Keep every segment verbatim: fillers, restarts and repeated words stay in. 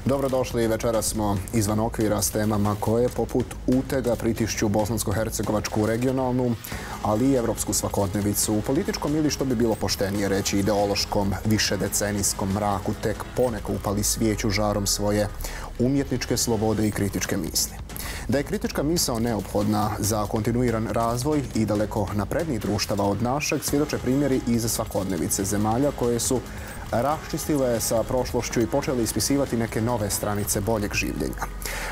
Dobrodošli, večeras smo izvan okvira s temama koje poput utega pritišću bosansko-hercegovačku regionalnu, ali i evropsku svakodnevicu. U političkom ili što bi bilo poštenije reći ideološkom višedecenijskom mraku tek poneko upali svijeću žarom svoje umjetničke slobode i kritičke misli. Da je kritička misao neophodna za kontinuiran razvoj i daleko naprednijih društava od našeg, svjedoče primjeri iz svakodnevice zemalja koje su raščistile sa prošlošću i počeli ispisivati neke nove stranice boljeg življenja.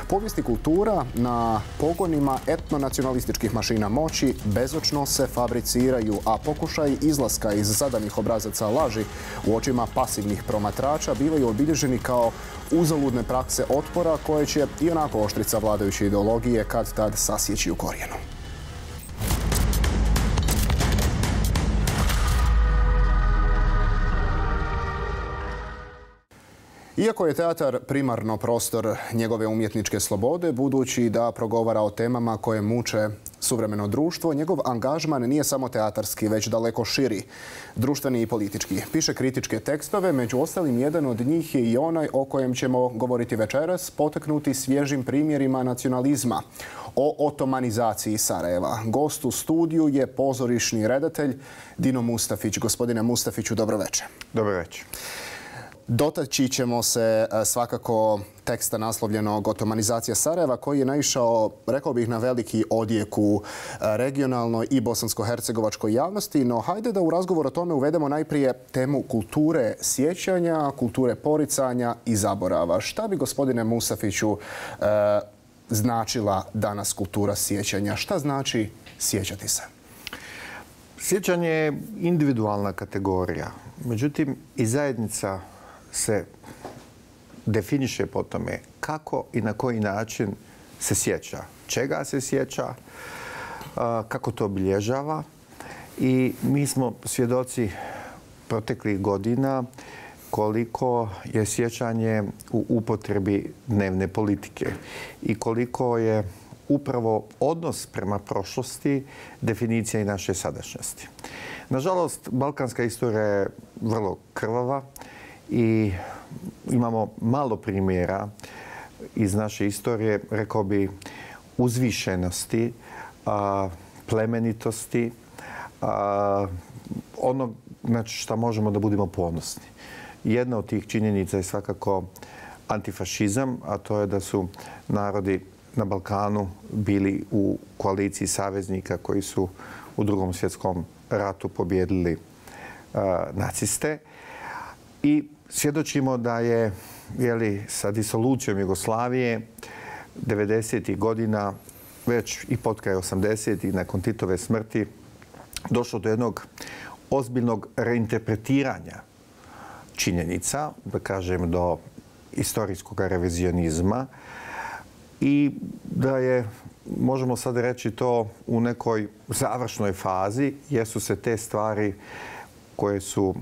Povijest i kultura na pogonima etnonacionalističkih mašina moći bezočno se fabriciraju, a pokušaj izlaska iz zadanih obrazaca laži u očima pasivnih promatrača bivaju obilježeni kao uzaludne prakse otpora koje će i onako oštrica vladajuće ideologije kad tad sasjeći u korijenu. Iako je teatar primarno prostor njegove umjetničke slobode, budući da progovara o temama koje muče suvremeno društvo, njegov angažman nije samo teatarski, već daleko širi, društveni i politički. Piše kritičke tekstove, među ostalim jedan od njih je i onaj o kojem ćemo govoriti večeras, poteknuti svježim primjerima nacionalizma, o otomanizaciji Sarajeva. Gost u studiju je pozorišni redatelj Dino Mustafić. Gospodine Mustafiću, dobro večer. Dobro večer. Dotaći ćemo se svakako teksta naslovljenog Otomanizacija Sarajeva, koji je naišao, rekao bih, na veliki odjek u regionalnoj i bosansko-hercegovačkoj javnosti. No, hajde da u razgovor o tome uvedemo najprije temu kulture sjećanja, kulture poricanja i zaborava. Šta bi, gospodine Mustafiću, značila danas kultura sjećanja? Šta znači sjećati se? Sjećanje je individualna kategorija. Međutim, i zajednica se definiše po tome kako i na koji način se sjeća, čega se sjeća, kako to obilježava. I mi smo svjedoci proteklih godina koliko je sjećanje u upotrebi dnevne politike i koliko je upravo odnos prema prošlosti definicija i naše sadašnjosti. Nažalost, balkanska istorija je vrlo krvava i imamo malo primjera iz naše istorije, rekao bi, uzvišenosti, plemenitosti, ono na što možemo da budemo ponosni. Jedna od tih činjenica je svakako antifašizam, a to je da su narodi na Balkanu bili u koaliciji saveznika koji su u Drugom svjetskom ratu pobjedili uh, naciste. I svjedočimo da je, jeli, sa disolucijom Jugoslavije devedesetih godina, već i potkraj osamdesetih, nakon Titove smrti, došlo do jednog ozbiljnog reinterpretiranja činjenica, da kažem do istorijskog revizionizma, i da je, možemo sad reći to, u nekoj završnoj fazi, jer su se te stvari koje su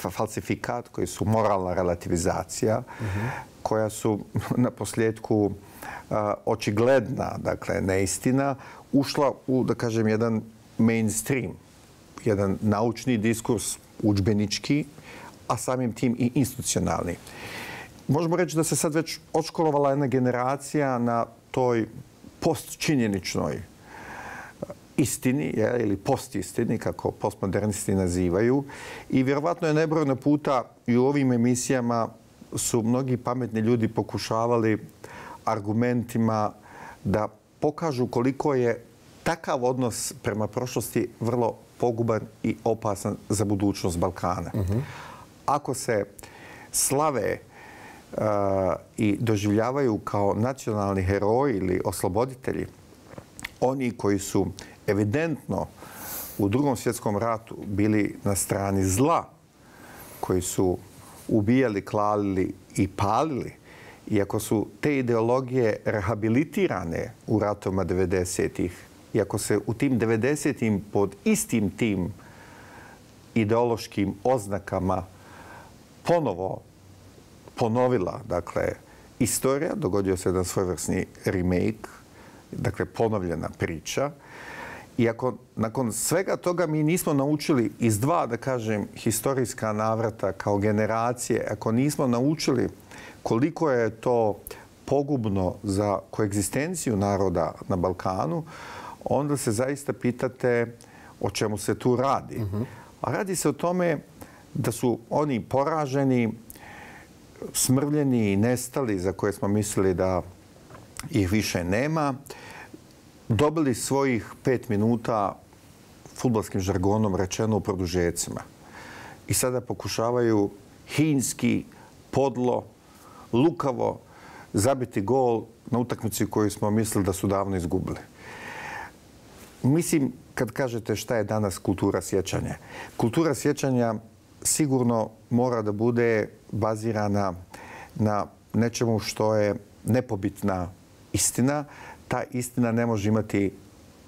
falsifikat, koje su moralna relativizacija, mm-hmm. koja su na posljedku uh, očigledna, dakle neistina, ušla u, da kažem, jedan mainstream, jedan naučni diskurs, udžbenički, a samim tim i institucionalni. Možemo reći da se sad već odškolovala jedna generacija na toj postčinjeničnoj istini, je, ili postistini, kako postmodernisti nazivaju. I vjerovatno je nebrojno puta i u ovim emisijama su mnogi pametni ljudi pokušavali argumentima da pokažu koliko je takav odnos prema prošlosti vrlo poguban i opasan za budućnost Balkana. Mm-hmm. Ako se slave Uh, i doživljavaju kao nacionalni heroji ili osloboditelji, oni koji su evidentno u Drugom svjetskom ratu bili na strani zla, koji su ubijali, klalili i palili, iako su te ideologije rehabilitirane u ratovima devedesetih, iako se u tim devedesetim pod istim tim ideološkim oznakama ponovo ponovila, dakle, istorija, dogodio se jedan svojevrsni remake, dakle, ponovljena priča. I ako nakon svega toga mi nismo naučili iz dva, da kažem, historijska navrata kao generacije, ako nismo naučili koliko je to pogubno za koegzistenciju naroda na Balkanu, onda se zaista pitate o čemu se tu radi. Uh-huh. A radi se o tome da su oni poraženi, smrvljeni i nestali za koje smo mislili da ih više nema, dobili svojih pet minuta, fudbalskim žargonom rečeno, u produžecima. I sada pokušavaju hinski, podlo, lukavo zabiti gol na utakmici koju smo mislili da su davno izgubili. Mislim, kad kažete šta je danas kultura sjećanja, kultura sjećanja sigurno mora da bude bazirana na nečemu što je nepobitna istina. Ta istina ne može imati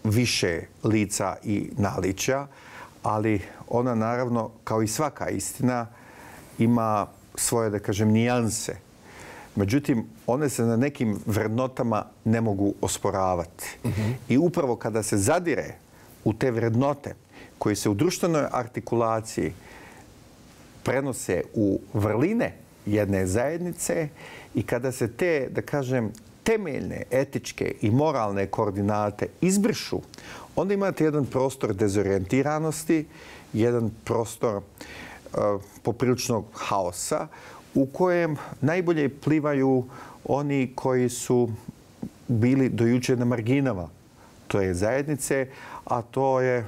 više lica i naličja, ali ona naravno, kao i svaka istina, ima svoje, da kažem, nijanse. Međutim, one se na nekim vrednotama ne mogu osporavati. Uh-huh. I upravo kada se zadire u te vrednote koje se u društvenoj artikulaciji prenose u vrline jedne zajednice i kada se te, da kažem, temeljne, etičke i moralne koordinate izbrišu, onda imate jedan prostor dezorijentiranosti, jedan prostor uh, popriličnog haosa u kojem najbolje plivaju oni koji su bili do juče na marginama te zajednice, a to je,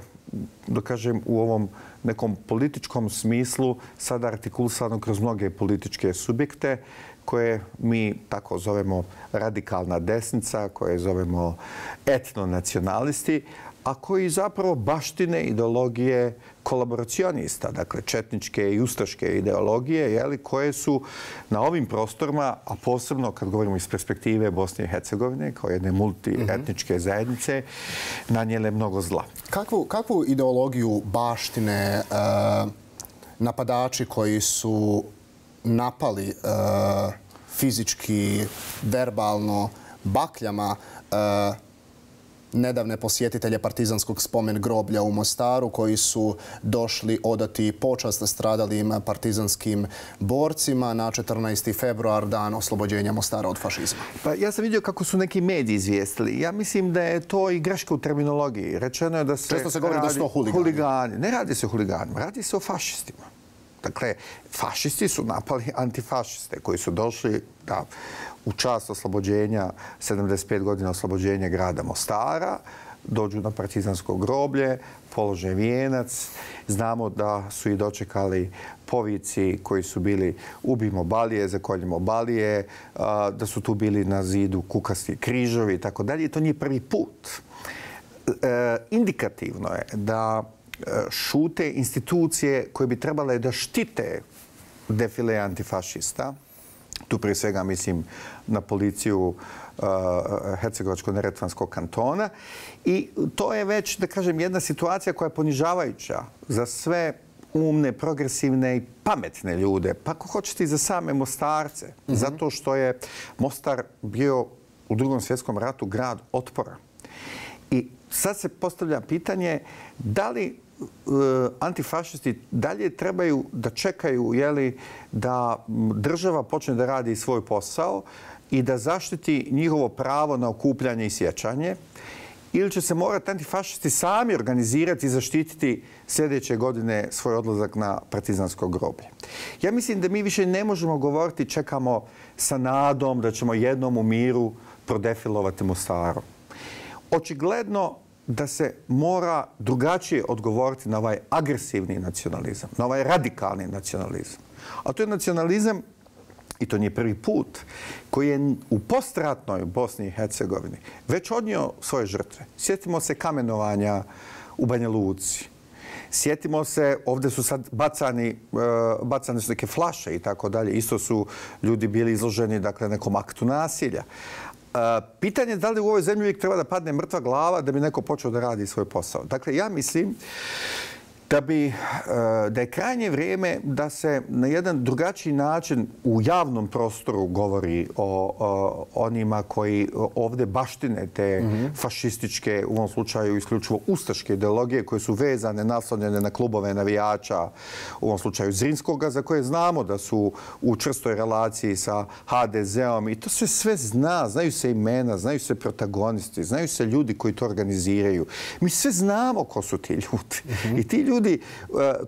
da kažem, u ovom nekom političkom smislu sada artikulisano kroz mnoge političke subjekte koje mi tako zovemo radikalna desnica, koje zovemo etnonacionalisti, a koji zapravo baštine ideologije kolaboracionista, dakle četničke i ustaške ideologije, jeli, koje su na ovim prostorima, a posebno kad govorimo iz perspektive Bosne i Hercegovine, kao jedne multietničke zajednice, nanijele mnogo zla. Kakvu, kakvu ideologiju baštine uh, napadači koji su napali uh, fizički, verbalno, bakljama uh, nedavne posjetitelje partizanskog spomen groblja u Mostaru koji su došli odati počast stradalim partizanskim borcima na četrnaesti februar, dan oslobođenja Mostara od fašizma? Pa ja sam vidio kako su neki mediji izvijestili. Ja mislim da je to i greška u terminologiji. Rečeno je da se Često se govori da su to huligani. huligani. Ne radi se o huliganima, radi se o fašistima. Dakle, fašisti su napali antifašiste koji su došli da u čast oslobođenja, sedamdeset pet godina oslobođenja grada Mostara, dođu na partizansko groblje, polože vijenac. Znamo da su i dočekali povici koji su bili ubijmo Balije, zakoljimo Balije, da su tu bili na zidu kukasti križovi i tako dalje. I to nije prvi put. Indikativno je da šute institucije koje bi trebale da štite defile antifašista. Tu prije svega mislim na policiju uh, Hercegovačko-neretvanskog kantona. I to je već, da kažem, jedna situacija koja je ponižavajuća za sve umne, progresivne i pametne ljude. Pa ako hoćete i za same Mostarce. Mm-hmm. Zato što je Mostar bio u Drugom svjetskom ratu grad otpora. I sad se postavlja pitanje da li antifašisti dalje trebaju da čekaju, jeli, da država počne da radi svoj posao i da zaštiti njihovo pravo na okupljanje i sjećanje, ili će se morati antifašisti sami organizirati i zaštititi sljedeće godine svoj odlazak na partizansko groblje. Ja mislim da mi više ne možemo govoriti čekamo sa nadom da ćemo jednom u miru prodefilovati Mostarom. Očigledno da se mora drugačije odgovoriti na ovaj agresivni nacionalizam, na ovaj radikalni nacionalizam. A to je nacionalizam, i to nije prvi put, koji je u postratnoj Bosni i Hercegovini već odnio svoje žrtve. Sjetimo se kamenovanja u Banja Luci. Sjetimo se, ovdje su sad bacani, bacane su neke flaše i tako dalje. Isto su ljudi bili izloženi, dakle, nekom aktu nasilja. Pitanje je da li u ovoj zemlji uvijek treba da padne mrtva glava da bi neko počeo da radi svoj posao. Dakle, ja mislim da bi da je krajnje vrijeme da se na jedan drugačiji način u javnom prostoru govori o, o onima koji ovdje baštine te mm-hmm. fašističke, u ovom slučaju isključivo ustaške ideologije koje su vezane, naslonjene na klubove navijača, u ovom slučaju Zrinskoga, za koje znamo da su u čvrstoj relaciji sa ha de zeom i to se sve zna, znaju se imena, znaju se protagonisti, znaju se ljudi koji to organiziraju. Mi sve znamo ko su ti ljudi. Mm-hmm. I ti ljudi,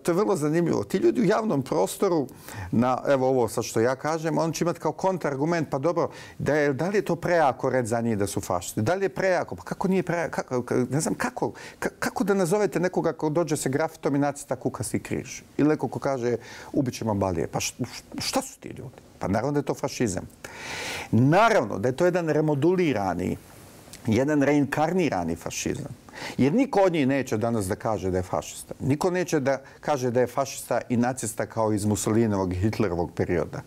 to je vrlo zanimljivo, ti ljudi u javnom prostoru, na, evo ovo sad što ja kažem, on će imati kao kontrargument, pa dobro, da, je, da li je to prejako reći za njih da su fašisti? Da li je prejako? Pa kako nije prejako? Kako, ne znam, kako, kako da nazovete nekoga ko dođe se grafitom i nacrta kukasti križ? Ili neko ko kaže ubit ćemo Balije. Pa šta su ti ljudi? Pa naravno da je to fašizam. Naravno da je to jedan remodulirani, jedan reinkarnirani fašizam. Jer niko od njih neće danas da kaže da je fašista. Niko neće da kaže da je fašista i nacista kao iz Mussolinovog i Hitlerovog perioda.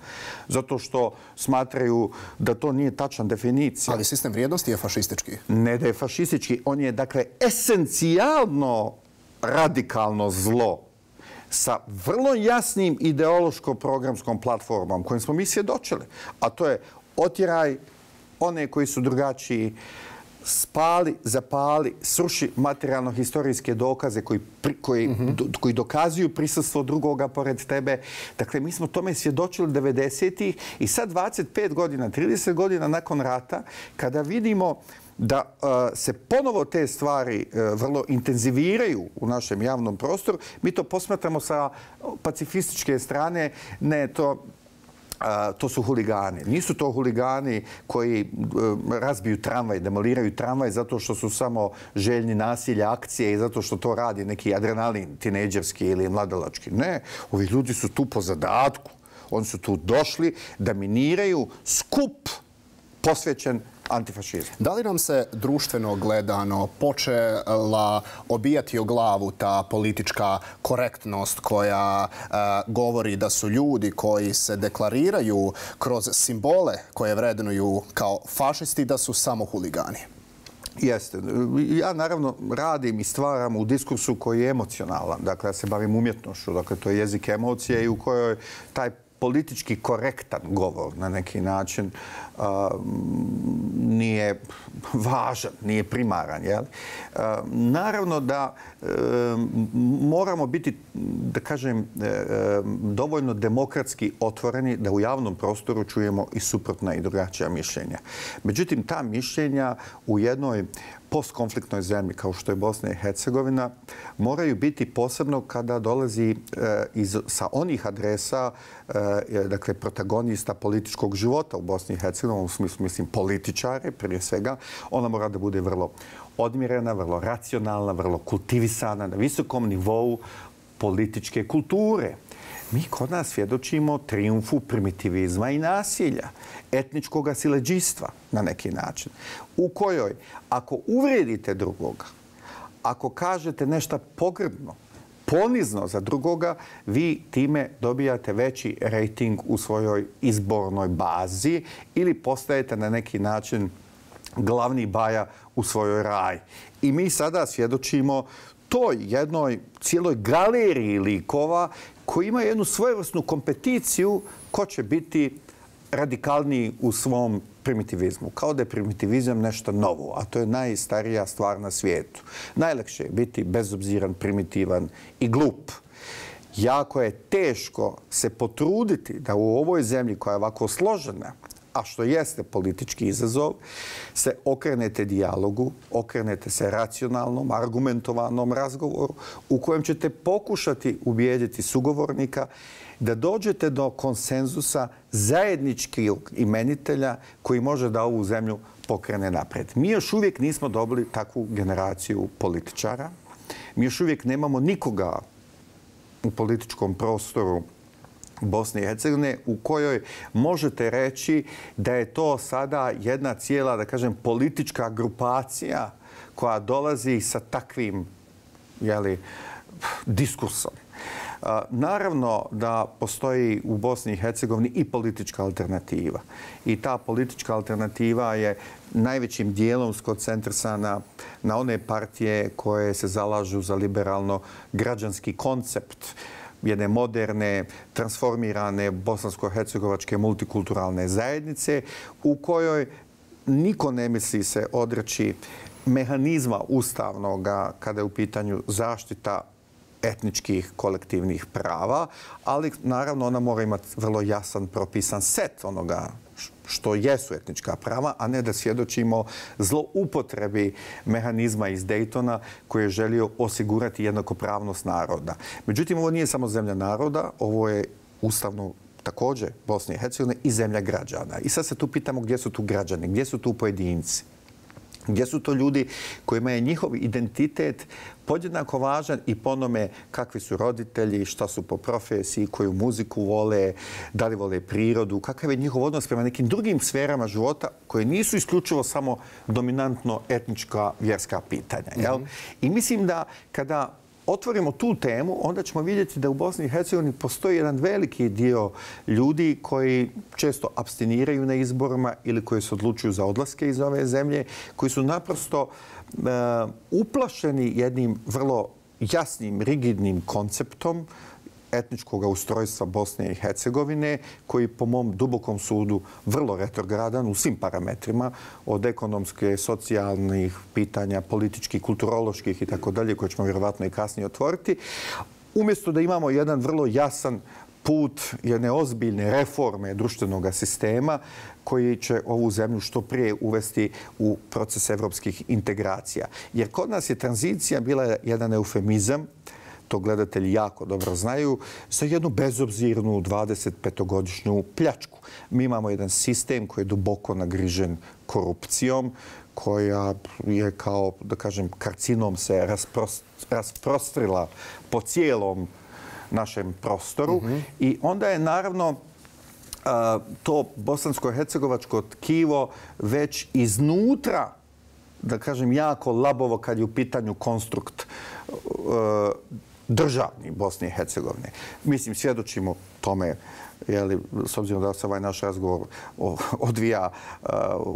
Zato što smatraju da to nije tačna definicija. Ali sistem vrijednosti je fašistički. Ne da je fašistički. On je, dakle, esencijalno radikalno zlo sa vrlo jasnim ideološko-programskom platformom kojim smo mi svjedočili. A to je otjeraj one koji su drugačiji, spali, zapali, sruši materijalno-historijske dokaze koji, koji, mm-hmm. do, koji dokazuju prisustvo drugoga pored tebe. Dakle, mi smo tome svjedočili devedesetih i sad dvadeset pet godina, trideset godina nakon rata, kada vidimo da uh, se ponovo te stvari uh, vrlo intenziviraju u našem javnom prostoru, mi to posmatramo sa pacifističke strane, ne to... Uh, to su huligani. Nisu to huligani koji uh, razbiju tramvaj, demoliraju tramvaj zato što su samo željni nasilja, akcije i zato što to radi neki adrenalin, tinejdžerski ili mladalački. Ne, ovi ljudi su tu po zadatku. Oni su tu došli da miniraju skup posvećen antifašizmu. Da li nam se društveno gledano počela obijati o glavu ta politička korektnost koja uh, govori da su ljudi koji se deklariraju kroz simbole koje vrednuju kao fašisti da su samo huligani? Jeste. Ja naravno radim i stvaram u diskursu koji je emocionalan. Dakle, ja se bavim umjetnošću. Dakle, to je jezik emocije i u kojoj taj politički korektan govor na neki način uh, nije važan, nije primaran. Jel? Uh, naravno da uh, moramo biti, da kažem, uh, dovoljno demokratski otvoreni da u javnom prostoru čujemo i suprotna i drugačija mišljenja. Međutim, ta mišljenja u jednoj postkonfliktnoj zemlji kao što je Bosna i Hercegovina moraju biti posebno kada dolazi e, iz, sa onih adresa, e, dakle, protagonista političkog života u Bosni i Hercegovini, u smislu, mislim, političare prije svega. Ona mora da bude vrlo odmjerena, vrlo racionalna, vrlo kultivisana, na visokom nivou političke kulture. Mi kod nas svjedočimo triumfu primitivizma i nasilja, etničkog siledžijstva na neki način, u kojoj ako uvrijedite drugoga, ako kažete nešto pogrdno, ponizno za drugoga, vi time dobijate veći rejting u svojoj izbornoj bazi ili postajete na neki način glavni baja u svojoj raj. I mi sada svjedočimo toj jednoj cijeloj galeriji likova koji ima jednu svojevrsnu kompeticiju ko će biti radikalniji u svom primitivizmu. Kao da je primitivizam nešto novo, a to je najstarija stvar na svijetu. Najlakše je biti bezobziran, primitivan i glup. Jako je teško se potruditi da u ovoj zemlji koja je ovako složena, a što jeste politički izazov, se okrenete dijalogu, okrenete se racionalnom, argumentovanom razgovoru u kojem ćete pokušati ubijediti sugovornika da dođete do konsenzusa zajedničkog imenitelja koji može da ovu zemlju pokrene napred. Mi još uvijek nismo dobili takvu generaciju političara. Mi još uvijek nemamo nikoga u političkom prostoru Bosne i Hercegovine u kojoj možete reći da je to sada jedna cijela, da kažem, politička grupacija koja dolazi sa takvim, jeli, diskursom. Naravno da postoji u Bosni i Hercegovini i politička alternativa. I ta politička alternativa je najvećim dijelom skoncentrisana na one partije koje se zalažu za liberalno-građanski koncept jedne moderne, transformirane bosansko-hercegovačke multikulturalne zajednice u kojoj niko ne misli se odreći mehanizma ustavnog kada je u pitanju zaštita etničkih kolektivnih prava, ali naravno ona mora imati vrlo jasan propisan set onoga što jesu etnička prava, a ne da svjedočimo zloupotrebi mehanizma iz Daytona koji je želio osigurati jednakopravnost naroda. Međutim, ovo nije samo zemlja naroda, ovo je ustavno također Bosne i Hercegovine i zemlja građana. I sad se tu pitamo gdje su tu građani, gdje su tu pojedinci. Gdje su to ljudi kojima je njihov identitet podjednako važan i po onome kakvi su roditelji, šta su po profesiji, koju muziku vole, da li vole prirodu, kakav je njihov odnos prema nekim drugim sferama života koje nisu isključivo samo dominantno etnička vjerska pitanja. Jel? I mislim da kada otvorimo tu temu, onda ćemo vidjeti da u Bosni i Hercegovini postoji jedan veliki dio ljudi koji često abstiniraju na izborima ili koji se odlučuju za odlaske iz ove zemlje, koji su naprosto uh, uplašeni jednim vrlo jasnim, rigidnim konceptom etničkog ustrojstva Bosne i Hercegovine, koji po mom dubokom sudu vrlo retrogradan u svim parametrima, od ekonomske, socijalnih pitanja, političkih, kulturoloških i tako dalje, koje ćemo vjerovatno i kasnije otvoriti, umjesto da imamo jedan vrlo jasan put jedne ozbiljne reforme društvenog sistema koji će ovu zemlju što prije uvesti u proces evropskih integracija. Jer kod nas je tranzicija bila jedan eufemizam, to gledatelji jako dobro znaju, za jednu bezobzirnu dvadesetpetogodišnju pljačku. Mi imamo jedan sistem koji je duboko nagrižen korupcijom, koja je kao, da kažem, karcinom se rasprostrila po cijelom našem prostoru. I onda je naravno to bosansko-hercegovačko tkivo već iznutra, da kažem, jako labovo kad je u pitanju konstrukt državni Bosne i Hercegovine. Mislim, svjedočimo tome, jeli, s obzirom da se ovaj naš razgovor odvija uh,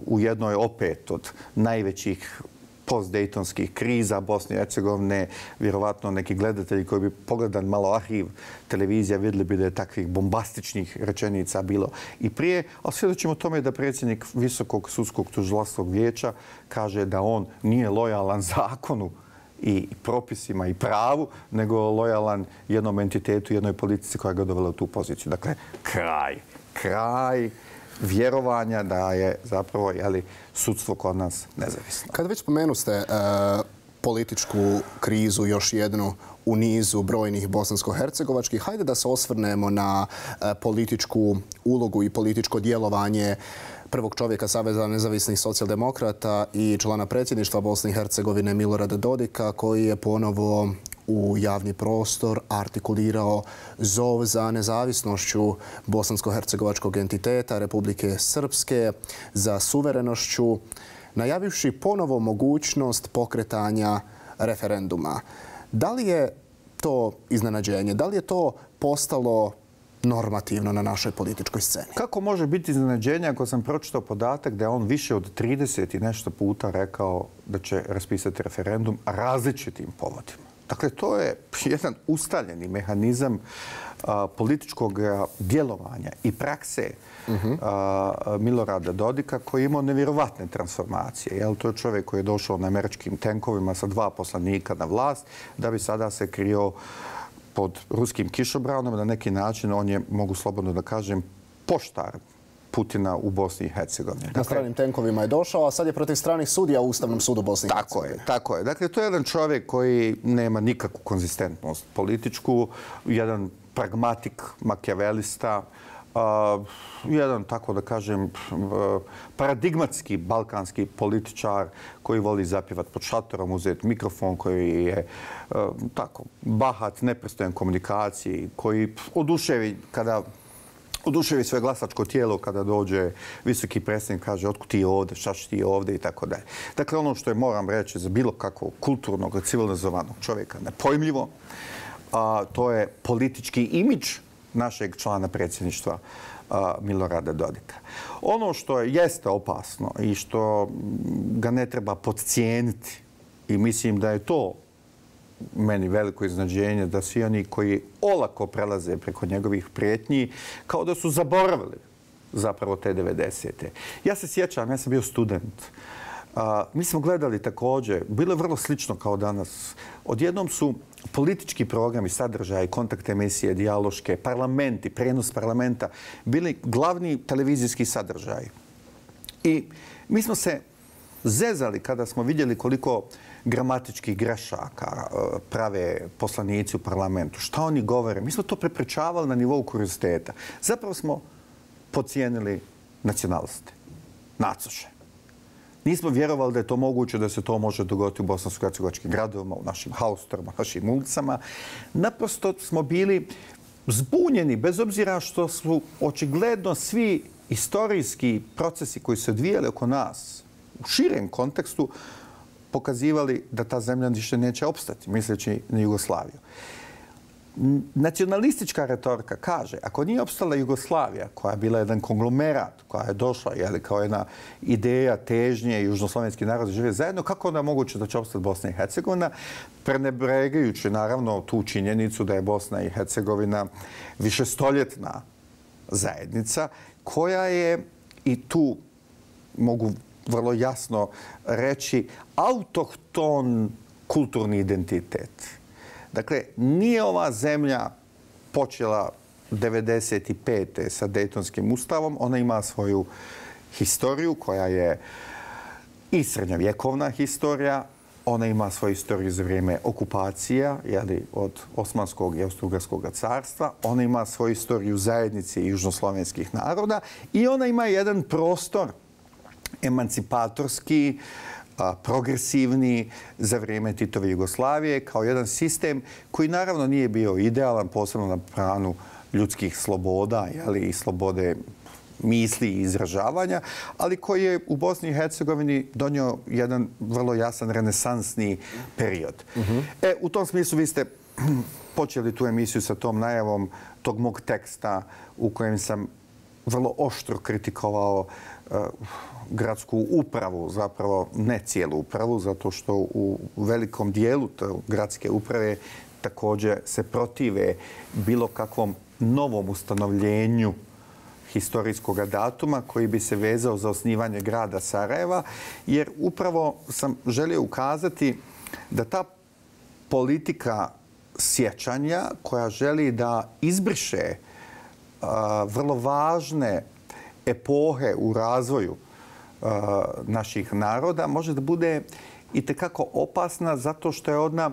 u jednoj opet od najvećih post-dejtonskih kriza Bosne i Hercegovine, vjerovatno neki gledatelji koji bi pogledan malo arhiv televizija vidjeli bi da je takvih bombastičnih rečenica bilo i prije, ali svjedočimo tome da predsjednik Visokog sudskog tužilačkog vijeća kaže da on nije lojalan zakonu i propisima i pravu, nego lojalan jednom entitetu, jednoj politici koja ga dovela u tu poziciju. Dakle, kraj. Kraj vjerovanja da je zapravo jeli, sudstvo kod nas nezavisno. Kada već spomenu ste uh, političku krizu, još jednu u nizu brojnih bosansko-hercegovačkih, hajde da se osvrnemo na uh, političku ulogu i političko djelovanje prvog čovjeka Saveza nezavisnih socijaldemokrata i člana predsjedništva Bosne i Hercegovine Milorada Dodika, koji je ponovo u javni prostor artikulirao zov za nezavisnošću bosansko-hercegovačkog entiteta Republike Srpske, za suverenošću, najavivši ponovo mogućnost pokretanja referenduma. Da li je to iznenađenje? Da li je to postalo normativno na našoj političkoj sceni? Kako može biti iznenađenje ako sam pročitao podatak da je on više od trideset i nešto puta rekao da će raspisati referendum različitim povodima? Dakle, to je jedan ustaljeni mehanizam a, političkog djelovanja i prakse a, Milorada Dodika koji je imao nevjerovatne transformacije. Jel, to je čovjek koji je došao na američkim tenkovima sa dva poslanika na vlast da bi sada se krio pod ruskim kišobranom. Na neki način on je, mogu slobodno da kažem, poštar Putina u Bosni i Hercegovini. Na stranim tenkovima je došao, a sad je protiv stranih sudija u Ustavnom sudu Bosne i Hercegovine. Tako je, tako je. Dakle, to je jedan čovjek koji nema nikakvu konzistentnost političku, jedan pragmatik, makijavelista, uh, jedan, tako da kažem, uh, paradigmatski balkanski političar koji voli zapjevat pod šatorom, uzeti mikrofon, koji je uh, tako bahat, nepristojan komunikaciji, koji oduševi kada oduševi svoje glasačko tijelo kada dođe visoki predsjednik, kaže otkud ti ovdje, šta ćeš ti ovdje i tako dalje. Dakle, ono što je, moram reći, za bilo kakvog kulturnog, civilizovanog čovjeka nepojmljivo, a to je politički imidž našeg člana predsjedništva Milorada Dodika. Ono što jeste opasno i što ga ne treba podcijeniti, i mislim da je to meni veliko iznenađenje, da svi oni koji olako prelaze preko njegovih prijetnji kao da su zaboravili zapravo te devedesete. Ja se sjećam, ja sam bio student. A, mi smo gledali također, bilo je vrlo slično kao danas. Odjednom su politički programi, sadržaji, kontakt emisije, dijaloške, parlamenti, prenos parlamenta bili glavni televizijski sadržaji. I mi smo se zezali kada smo vidjeli koliko gramatičkih grešaka prave poslanici u parlamentu. Šta oni govore? Mi smo to prepričavali na nivou kurioziteta. Zapravo smo podcijenili nacionaliste, nacoše. Nismo vjerovali da je to moguće, da se to može dogoditi u bosansko-hercegovačkim gradovima, u našim haustorima, našim ulicama. Naprosto smo bili zbunjeni, bez obzira što su očigledno svi istorijski procesi koji se odvijali oko nas u širem kontekstu pokazivali da ta zemlja više neće opstati, misleći na Jugoslaviju. Nacionalistička retorika kaže, ako nije opstala Jugoslavija, koja je bila jedan konglomerat, koja je došla jeli, kao jedna ideja težnje i južnoslovenski narod žive zajedno, kako onda je moguće da će opstati Bosna i Hercegovina, prenebregajući naravno tu činjenicu da je Bosna i Hercegovina višestoljetna zajednica, koja je, i tu mogu vrlo jasno reći, autohton kulturni identitet. Dakle, nije ova zemlja počela devedeset pete sa Dejtonskim ustavom. Ona ima svoju historiju koja je i srednjovjekovna historija. Ona ima svoju istoriju za vrijeme okupacija jeli, od Osmanskog i Austro-Ugarskog carstva. Ona ima svoju istoriju zajednice južnoslovenskih naroda i ona ima jedan prostor emancipatorski, progresivni za vrijeme Titove Jugoslavije kao jedan sistem koji naravno nije bio idealan, posebno na planu ljudskih sloboda jeli, i slobode misli i izražavanja, ali koji je u Bosni i Hercegovini donio jedan vrlo jasan renesansni period. Uh-huh. E, u tom smislu vi ste počeli tu emisiju sa tom najavom tog mog teksta u kojem sam vrlo oštro kritikovao uh, gradsku upravu, zapravo ne cijelu upravu, zato što u velikom dijelu gradske uprave također se protive bilo kakvom novom ustanovljenju historijskog datuma koji bi se vezao za osnivanje grada Sarajeva, jer upravo sam želio ukazati da ta politika sjećanja koja želi da izbriše uh, vrlo važne epohe u razvoju naših naroda može da bude itekako opasna zato što je ona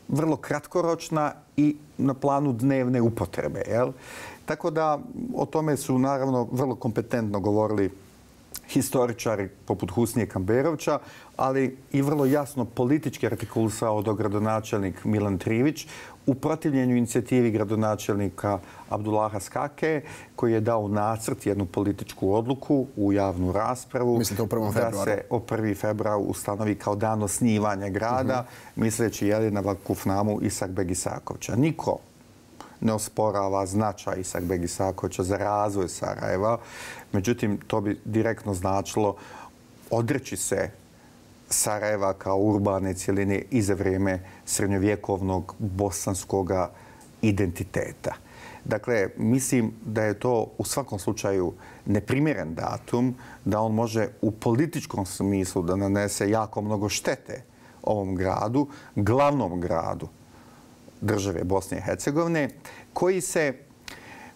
vrlo kratkoročna i na planu dnevne upotrebe. Jel? Tako da o tome su naravno vrlo kompetentno govorili historičari poput Husnije Kamberovća, ali i vrlo jasno politički artikulisao dogradonačelnik Milan Trivić u protivljenju inicijativi gradonačelnika Abdullaha Skake, koji je dao nacrt, jednu političku odluku u javnu raspravu. Mislite o prvom februaru? Da se o prvi februar ustanovi kao dan osnivanja grada, uh-huh. misleći jeli na Vakufnamu Isakbeg Isakovića. Niko ne osporava značaj Isakbeg Isakovića za razvoj Sarajeva. Međutim, to bi direktno značilo odreći se Sarajeva kao urbane cjeline i za vrijeme srednjovjekovnog bosanskog identiteta. Dakle, mislim da je to u svakom slučaju neprimjeren datum, da on može u političkom smislu da nanese jako mnogo štete ovom gradu, glavnom gradu države Bosne i Hercegovine, koji se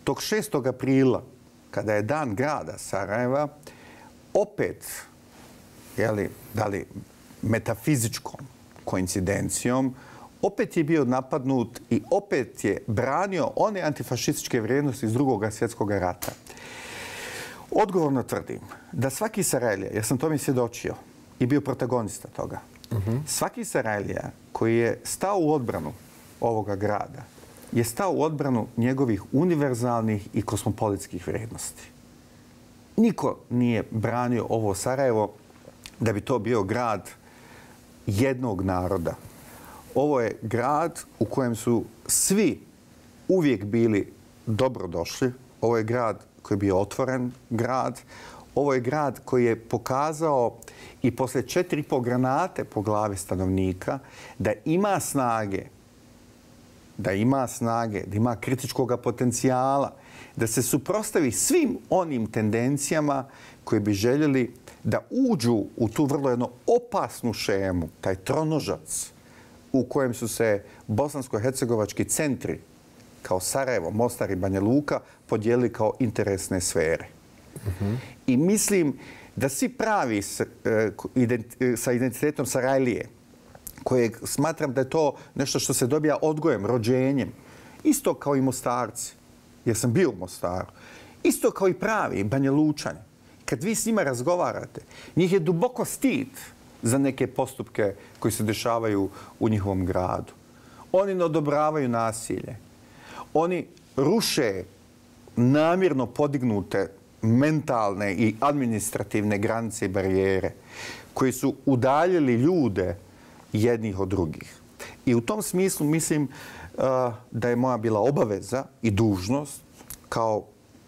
tog šestog aprila, kada je dan grada Sarajeva, opet, jeli, da li metafizičkom koincidencijom, opet je bio napadnut i opet je branio one antifašističke vrijednosti iz drugog svjetskog rata. Odgovorno tvrdim da svaki Sarajlija, ja sam to mi svjedočio i bio protagonista toga, uh-huh. svaki Sarajlija koji je stao u odbranu ovoga grada je stao u odbranu njegovih univerzalnih i kosmopolitskih vrijednosti. Niko nije branio ovo Sarajevo da bi to bio grad jednog naroda Ovo je grad u kojem su svi uvijek bili dobrodošli. Ovo je grad koji je bio otvoren grad. Ovo je grad koji je pokazao i posle četiri i po granate po glavi stanovnika da ima snage, da ima snage, da ima kritičkog potencijala, da se suprotstavi svim onim tendencijama koje bi željeli da uđu u tu vrlo jednu opasnu šemu, taj tronožac u kojem su se bosansko-hercegovački centri kao Sarajevo, Mostar i Banja Luka podijelili kao interesne sfere. Mm-hmm. I mislim da svi pravi s, ident, sa identitetom Sarajlije, kojeg smatram da je to nešto što se dobija odgojem, rođenjem, isto kao i Mostarci, jer sam bio u Mostaru, isto kao i pravi Banja Lučani. Kad vi s njima razgovarate, njih je duboko stid za neke postupke koji se dešavaju u njihovom gradu. Oni ne odobravaju nasilje. Oni ruše namjerno podignute mentalne i administrativne granice i barijere koji su udaljili ljude jednih od drugih. I u tom smislu mislim uh, da je moja bila obaveza i dužnost kao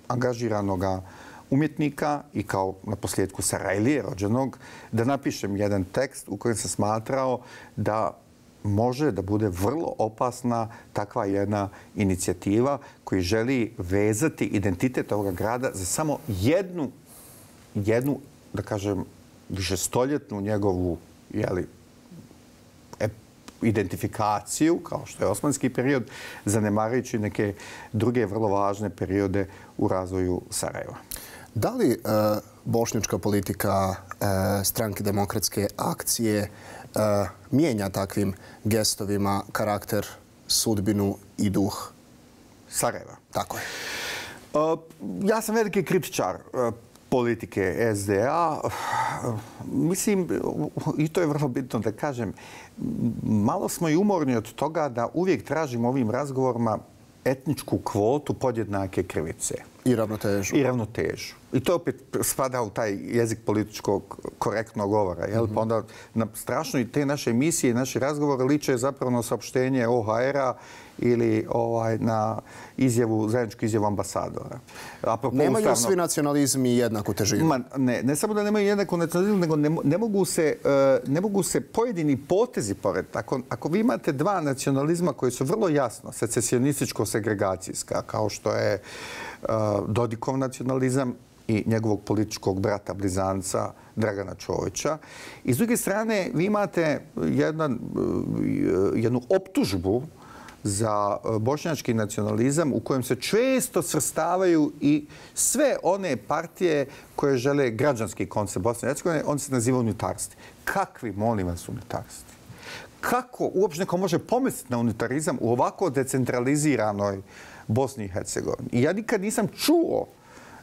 angažiranoga umjetnika i kao na posljedku Sarajlije rođenog da napišem jedan tekst u kojem sam smatrao da može da bude vrlo opasna takva jedna inicijativa koji želi vezati identitet ovoga grada za samo jednu, jednu da kažem, višestoljetnu njegovu jeli, identifikaciju, kao što je osmanski period, zanemarujući neke druge vrlo važne periode u razvoju Sarajeva. Da li uh, bošnjačka politika uh, Stranke demokratske akcije uh, mijenja takvim gestovima karakter, sudbinu i duh Sarajeva? Tako je. Uh, ja sam veliki kritičar uh, politike S D A. Mislim, i to je vrlo bitno da kažem, malo smo i umorni od toga da uvijek tražimo ovim razgovorima etničku kvotu podjednake krivice. I ravnotežu. I ravnotežu. I to opet spada u taj jezik političkog korektnog govora. Jel? Mm-hmm. Pa onda na strašno i te naše emisije i naše razgovore liče zapravo na saopštenje O H R-a ili ovaj, na izjavu, zajedničku izjavu ambasadora. Apropo nemaju ustavno, svi nacionalizmi jednaku težinu. Ma, ne, ne samo da nemaju jednaku nacionalizmu, nego ne, ne, mogu se, uh, ne mogu se pojedini potezi pored. Ako, ako vi imate dva nacionalizma koji su vrlo jasno secesionističko-segregacijska, kao što je uh, Dodikov nacionalizam i njegovog političkog brata blizanca Dragana Čovića. I s druge strane, vi imate jedan, jednu optužbu za bošnjački nacionalizam u kojem se često svrstavaju i sve one partije koje žele građanski koncept Bosne i Hercegovine, oni se nazivaju unitarsti. Kakvi, molim vas, unitarsti? Kako uopće neko može pomisliti na unitarizam u ovako decentraliziranoj Bosni i Hercegovini? I ja nikad nisam čuo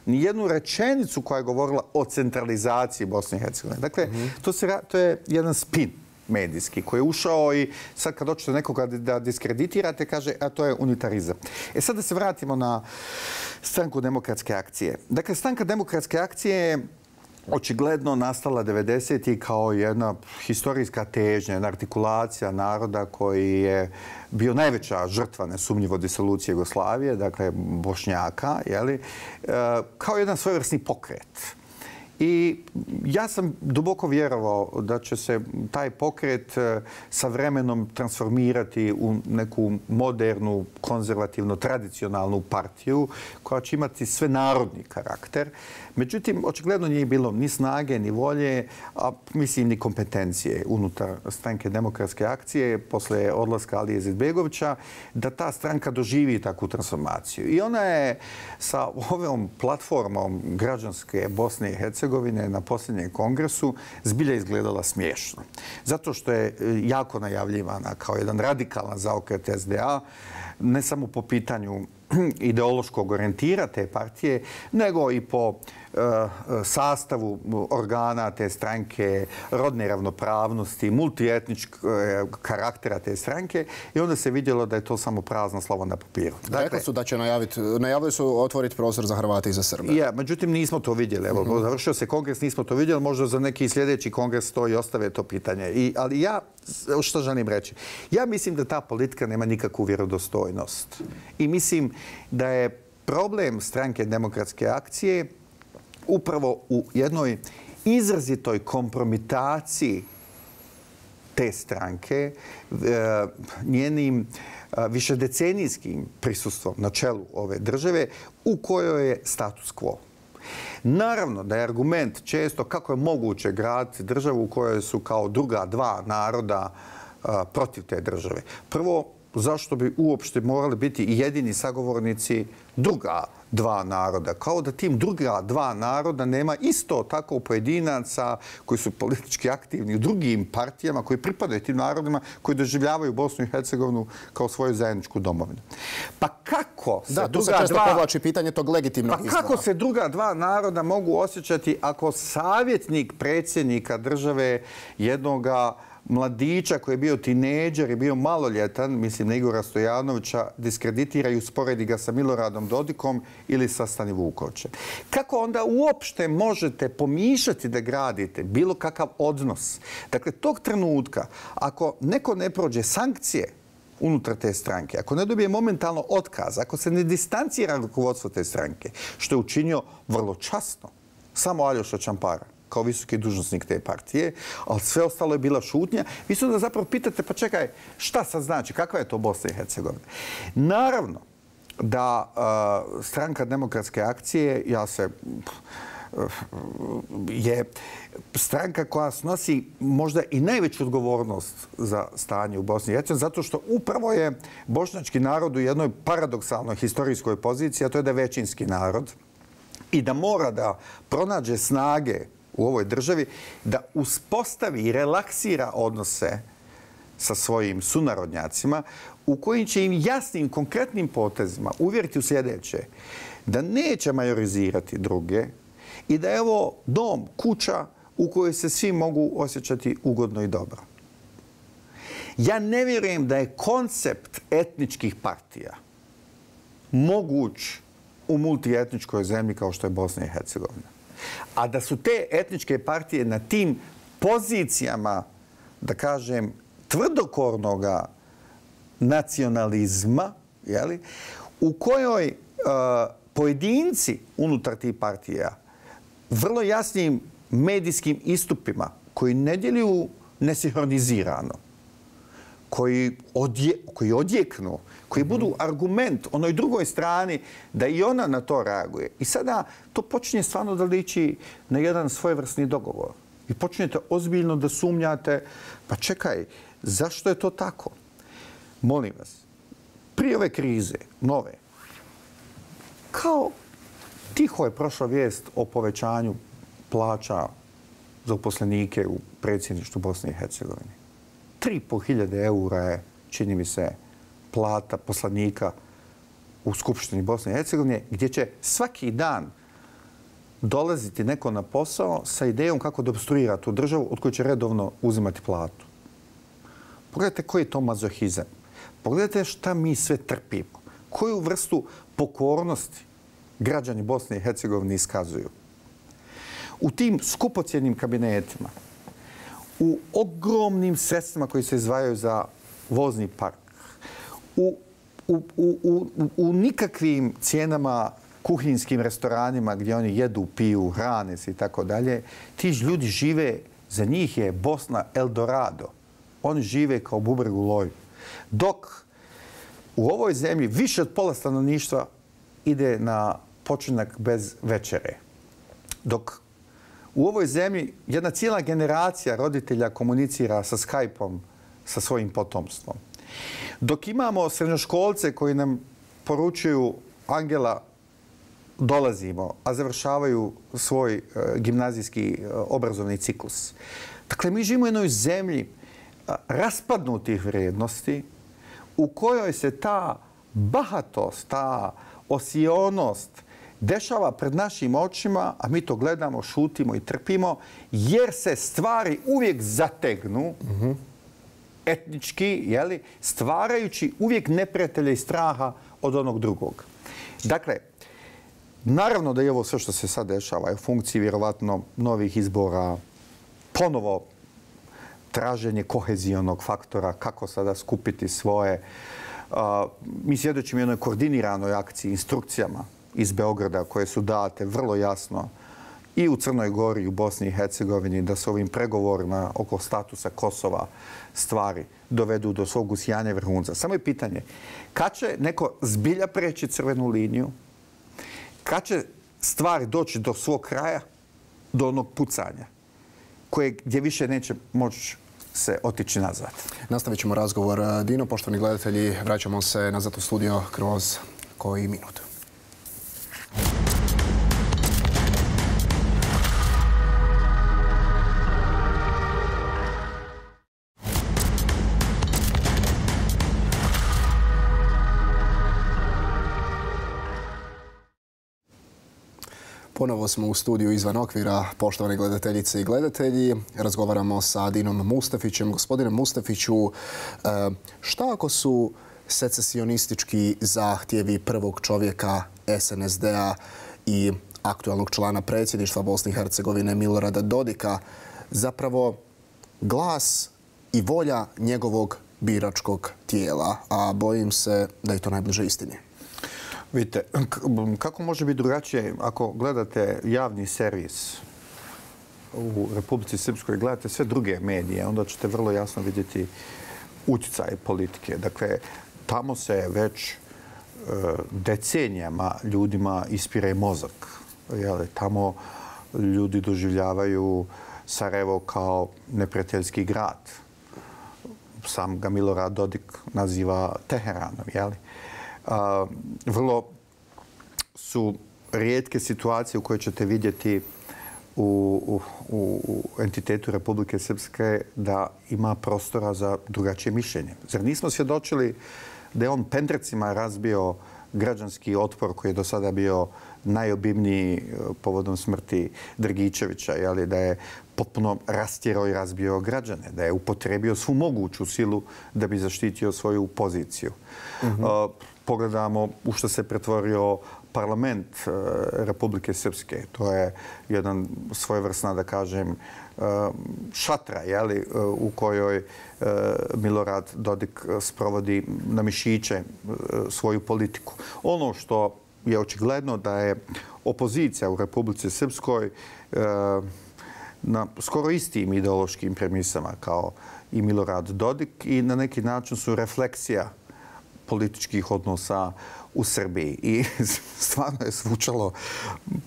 ni jednu rečenicu koja je govorila o centralizaciji Bosne i Hercegovine. Dakle, mm-hmm. to, se, to je jedan spin medijski koji je ušao i sad kad hoćete nekoga da diskreditirate, kaže, a to je unitarizam. E sad da se vratimo na Stranku demokratske akcije. Dakle, Stranka demokratske akcije je očigledno nastala devedesetih kao jedna historijska težnja, jedna artikulacija naroda koji je bio najveća žrtva nesumnjivo disolucije Jugoslavije, dakle Bošnjaka, jeli, kao jedan svojevrsni pokret. I ja sam duboko vjerovao da će se taj pokret sa vremenom transformirati u neku modernu, konzervativno, tradicionalnu partiju koja će imati sve narodni karakter. Međutim, očigledno nije bilo ni snage, ni volje, a mislim ni kompetencije unutar Stranke demokratske akcije posle odlaska Alije Izetbegovića da ta stranka doživi takvu transformaciju. I ona je sa ovom platformom građanske Bosne i Hercegovine na posljednjem kongresu zbilja izgledala smiješno. Zato što je jako najavljivana kao jedan radikalan zaokret S D A, ne samo po pitanju ideološkog orijentira te partije, nego i po sastavu organa te stranke, rodne ravnopravnosti, multietničkog karaktera te stranke i onda se vidjelo da je to samo prazno slovo na papiru. Dakle, rekli su da će najaviti, najavili su otvoriti prostor za Hrvate i za Srbe. Ja, međutim, nismo to vidjeli. Evo, mm-hmm. završio se kongres, nismo to vidjeli, možda za neki sljedeći kongres to i ostave to pitanje. I, ali ja, što želim reći? Ja mislim da ta politika nema nikakvu vjerodostojnost. I mislim da je problem stranke Demokratske akcije upravo u jednoj izrazitoj kompromitaciji te stranke, njenim višedecenijskim prisustvom na čelu ove države u kojoj je status quo. Naravno da je argument često kako je moguće graditi državu u kojoj su kao druga dva naroda protiv te države. Prvo, zašto bi uopšte morali biti i jedini sagovornici druga dva naroda? Kao da tim druga dva naroda nema isto tako pojedinaca koji su politički aktivni u drugim partijama, koji pripadaju tim narodima, koji doživljavaju Bosnu i Hercegovinu kao svoju zajedničku domovinu. Pa kako se da, druga se često dva... povlači pitanje tog legitimnog pa izbora. kako se druga dva naroda mogu osjećati ako savjetnik predsjednika države jednoga mladića koji je bio tinejdžer i bio maloljetan, mislim na Igora Stojanovića, diskreditira i usporedi ga sa Miloradom Dodikom ili sa Stani Vukovićem. Kako onda uopšte možete pomišljati da gradite bilo kakav odnos? Dakle, tog trenutka, ako neko ne prođe sankcije unutar te stranke, ako ne dobije momentalno otkaz, ako se ne distancira rukovodstvo te stranke, što je učinio vrlo časno, samo Aljoša Čampara, kao visoki dužnosnik te partije, ali sve ostalo je bila šutnja. Vi se onda zapravo pitate, pa čekaj, šta sad znači? Kakva je to Bosna i Hercegovina? Naravno da uh, stranka Demokratske akcije, ja se, uh, je stranka koja snosi možda i najveću odgovornost za stanje u Bosni i Hercegovini, zato što upravo je bošnjački narod u jednoj paradoksalnoj historijskoj poziciji, a to je da je većinski narod i da mora da pronađe snage u ovoj državi da uspostavi i relaksira odnose sa svojim sunarodnjacima u kojim će im jasnim, konkretnim potezima uvjeriti u sljedeće, da neće majorizirati druge i da je ovo dom, kuća u kojoj se svi mogu osjećati ugodno i dobro. Ja ne vjerujem da je koncept etničkih partija moguć u multietničkoj zemlji kao što je Bosna i Hercegovina. A da su te etničke partije na tim pozicijama, da kažem, tvrdokornog nacionalizma, jeli, u kojoj uh, pojedinci unutar tih partija vrlo jasnim medijskim istupima koji ne djeluju nesinhronizirano, koji, odje, koji odjeknu, koji budu argument onoj drugoj strani da i ona na to reaguje. I sada to počinje stvarno da liči na jedan svojevrsni dogovor. I počinjete ozbiljno da sumnjate, pa čekaj, zašto je to tako? Molim vas, prije ove krize, nove, kao tiho je prošla vijest o povećanju plaća za uposlenike u predsjedništvu Bosne i Hercegovine. tri i pol hiljade eura je, čini mi se, plata poslanika u Skupštini Bosne i Hercegovine, gdje će svaki dan dolaziti neko na posao sa idejom kako da obstruira tu državu od koje će redovno uzimati platu. Pogledajte koji je to mazohizam. Pogledajte šta mi sve trpimo. Koju vrstu pokornosti građani Bosne i Hercegovine iskazuju. U tim skupocjenim kabinetima, u ogromnim sredstvima koji se izdvajaju za vozni park, u, u, u, u, u nikakvim cijenama kuhinskim restoranima gdje oni jedu, piju, hrane se i tako dalje, ti ljudi žive, za njih je Bosna Eldorado. Oni žive kao bubreg u loju. Dok u ovoj zemlji više od pola stanovništva ide na počinak bez večere. Dok u ovoj zemlji jedna cijela generacija roditelja komunicira sa Skype-om sa svojim potomstvom. Dok imamo srednjoškolce koji nam poručuju Angela, dolazimo, a završavaju svoj uh, gimnazijski uh, obrazovni ciklus. Dakle, mi živimo u jednoj zemlji uh, raspadnutih vrijednosti u kojoj se ta bahatost, ta osionost dešava pred našim očima, a mi to gledamo, šutimo i trpimo, jer se stvari uvijek zategnu mm-hmm. etnički, jeli, stvarajući uvijek neprijatelja i straha od onog drugog. Dakle, naravno da je ovo sve što se sad dešava je u funkciji vjerovatno novih izbora, ponovo traženje kohezijonog faktora, kako sada skupiti svoje. Uh, mi svjedočimo jednoj koordiniranoj akciji, instrukcijama iz Beograda koje su date vrlo jasno i u Crnoj Gori i u Bosni i Hercegovini da se ovim pregovorima oko statusa Kosova stvari dovedu do svog usijanja vrhunca. Samo je pitanje kad će neko zbilja preći crvenu liniju, kad će stvari doći do svog kraja, do onog pucanja koje gdje više neće moći se otići nazad. Nastavit ćemo razgovor. Dino, poštovani gledatelji, vraćamo se nazad u studio kroz koji minut. Ponovo smo u studiju izvan okvira, poštovane gledateljice i gledatelji. Razgovaramo sa Dinom Mustafićem. Gospodine Mustafiću, šta ako su secesionistički zahtjevi prvog čovjeka S N S D-a i aktualnog člana predsjedništva Bosne i Hercegovine Milorada Dodika zapravo glas i volja njegovog biračkog tijela, a bojim se da je to najbliže istini? Vidite, kako može biti drugačije ako gledate javni servis u Republici Srpskoj, gledate sve druge medije, onda ćete vrlo jasno vidjeti utjecaj politike. Dakle, tamo se već decenijama ljudima ispire mozak. Tamo ljudi doživljavaju Sarajevo kao neprijateljski grad. Sam ga Milorad Dodik naziva Teheranom, jeli? Uh, vrlo su rijetke situacije u koje ćete vidjeti u, u, u entitetu Republike Srpske da ima prostora za drugačije mišljenje. Zar nismo svjedočili da je on pendrecima razbio građanski otpor koji je do sada bio najobimniji povodom smrti Drgičevića, jeli, da je potpuno rastjerao i razbio građane, da je upotrebio svu moguću silu da bi zaštitio svoju poziciju. Mm-hmm. uh, Pogledamo u što se pretvorio parlament uh, Republike Srpske. To je jedan svojevrsna, da kažem, uh, šatra, jeli, uh, u kojoj uh, Milorad Dodik sprovodi na mišiće uh, svoju politiku. Ono što je očigledno da je opozicija u Republici Srpskoj uh, na skoro istim ideološkim premisama kao i Milorad Dodik i na neki način su refleksija političkih odnosa u Srbiji. I stvarno je zvučalo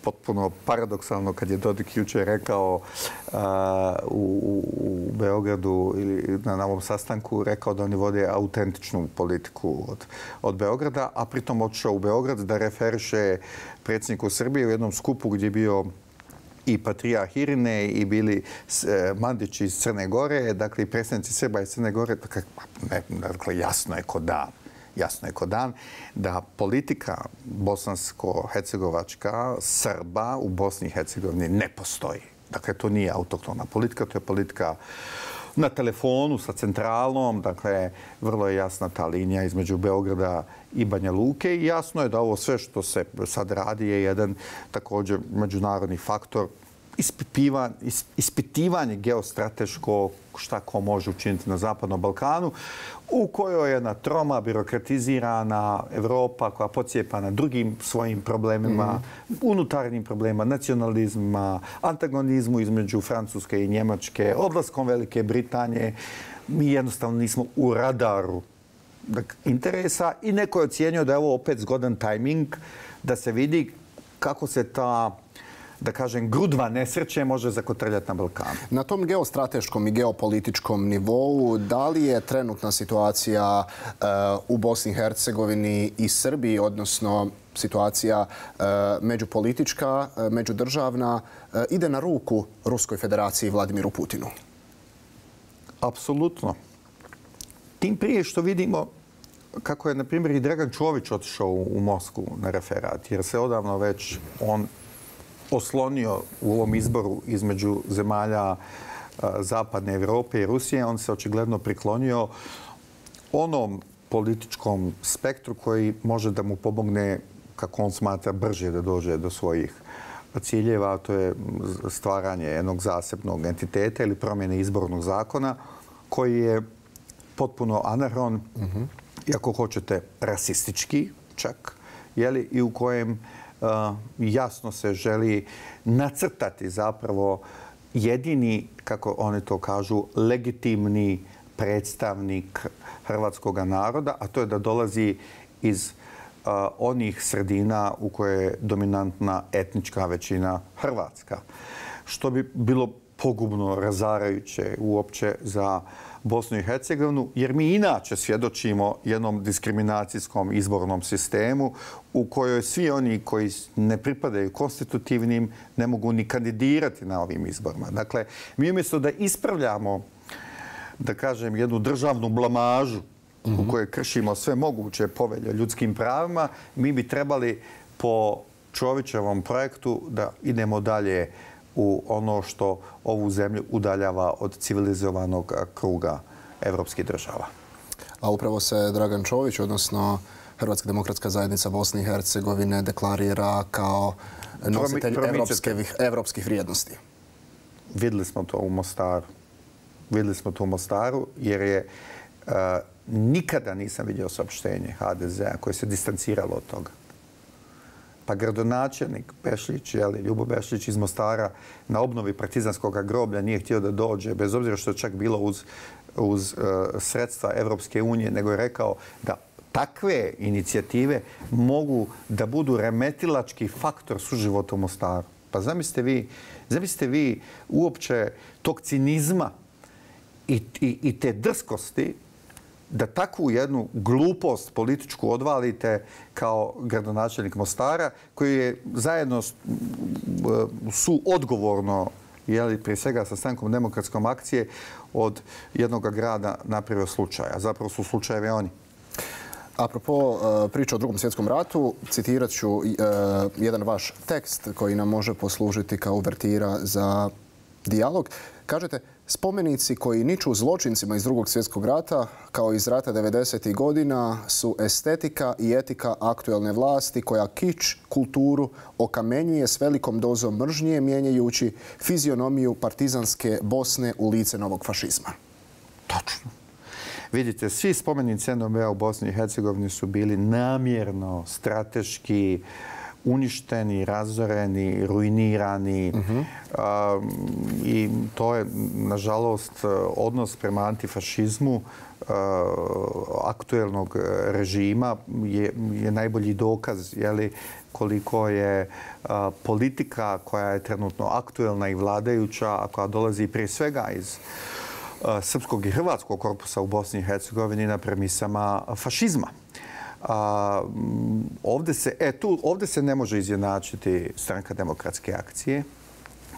potpuno paradoksalno kad je Dodik jučer rekao uh, u, u Beogradu ili na ovom sastanku rekao da oni vode autentičnu politiku od, od Beograda, a pritom otišao u Beograd da referiše predsjedniku Srbije u jednom skupu gdje je bio i Patrijarh Irine i bili e, Mandići iz Crne Gore, dakle i predstavnici Srba iz Crne Gore. Dakle, ne, dakle, jasno je ko dan. Jasno je ko dan da politika bosansko-hercegovačka Srba u Bosni i Hercegovini ne postoji. Dakle, to nije autoktona politika, to je politika na telefonu sa centralom. Dakle, vrlo je jasna ta linija između Beograda i Banja Luke i jasno je da ovo sve što se sad radi je jedan također međunarodni faktor ispitivanje, ispitivanje geostrateško šta ko može učiniti na Zapadnom Balkanu, u kojoj je jedna troma, birokratizirana Evropa koja podsjepa na drugim svojim problemima, mm. unutarnjim problemima, nacionalizmima, antagonizmu između Francuske i Njemačke, odlaskom Velike Britanije. Mi jednostavno nismo u radaru interesa i neko je ocijenio da je ovo opet zgodan tajming da se vidi kako se ta, da kažem, grudva nesreće može zakotrljati na Balkanu. Na tom geostrateškom i geopolitičkom nivou, da li je trenutna situacija uh, u Bosni i Hercegovini i Srbiji, odnosno situacija uh, međupolitička, uh, međudržavna, uh, ide na ruku Ruskoj federaciji i Vladimiru Putinu? Apsolutno. Tim prije što vidimo kako je, na primjer, i Dragan Čović otišao u Moskvu na referat, jer se odavno već on oslonio u ovom izboru između zemalja Zapadne Evrope i Rusije, on se očigledno priklonio onom političkom spektru koji može da mu pomogne, kako on smatra, brže da dođe do svojih ciljeva, a to je stvaranje jednog zasebnog entiteta ili promjene izbornog zakona, koji je potpuno anahron, mm-hmm. i ako hoćete rasistički čak, jeli, i u kojem uh, jasno se želi nacrtati zapravo jedini, kako oni to kažu, legitimni predstavnik hrvatskog naroda, a to je da dolazi iz uh, onih sredina u koje je dominantna etnička većina hrvatska. Što bi bilo pogubno, razarajuće uopće za Bosnu i Hercegovinu, jer mi inače svjedočimo jednom diskriminacijskom izbornom sistemu u kojoj svi oni koji ne pripadaju konstitutivnim ne mogu ni kandidirati na ovim izborima. Dakle, mi umjesto da ispravljamo, da kažem, jednu državnu blamažu u kojoj kršimo sve moguće povelje o ljudskim pravima, mi bi trebali po Čovićevom projektu da idemo dalje u ono što ovu zemlju udaljava od civilizovanog kruga evropskih država. A upravo se Dragan Čović, odnosno Hrvatska demokratska zajednica Bosne i Hercegovine, deklarira kao nositelj evropskih vrijednosti. Vidjeli smo to u Mostaru. Vidjeli smo to u Mostaru jer je uh, nikada nisam vidio saopštenje ha de zea koje se distanciralo od toga. Pa gradonačelnik Bešlić, jeli, Ljubo Bešlić iz Mostara na obnovi partizanskog groblja nije htio da dođe, bez obzira što je čak bilo uz, uz uh, sredstva Evropske unije, nego je rekao da takve inicijative mogu da budu remetilački faktor suživota u Mostaru. Pa zamislite vi, zamislite vi uopće tog cinizma i, i, i te drskosti da takvu jednu glupost političku odvalite kao gradonačelnik Mostara, koji je zajedno su odgovorno, jeli, prije svega sa Strankom demokratskom akcije, od jednog grada napravio slučaja. Zapravo su slučajevi oni. Apropo priča o Drugom svjetskom ratu, citirat ću jedan vaš tekst koji nam može poslužiti kao uvertira za dijalog. Kažete, spomenici koji niču zločincima iz Drugog svjetskog rata, kao iz rata devedesetih godina, su estetika i etika aktuelne vlasti koja kič, kulturu okamenjuje s velikom dozom mržnje, mijenjajući fizionomiju partizanske Bosne u lice novog fašizma. Točno. Vidite, svi spomenici en o be a u Bosni i Hercegovini su bili namjerno, strateški, uništeni, razoreni, ruinirani. Uh-huh. um, I to je, nažalost, odnos prema antifašizmu uh, aktuelnog režima je, je najbolji dokaz, jeli, koliko je uh, politika koja je trenutno aktuelna i vladajuća, a koja dolazi prije svega iz uh, srpskog i hrvatskog korpusa u Bosni i Hercegovini na premisama fašizma. A, ovdje, se, e, tu, ovdje se ne može izjednačiti Stranka demokratske akcije,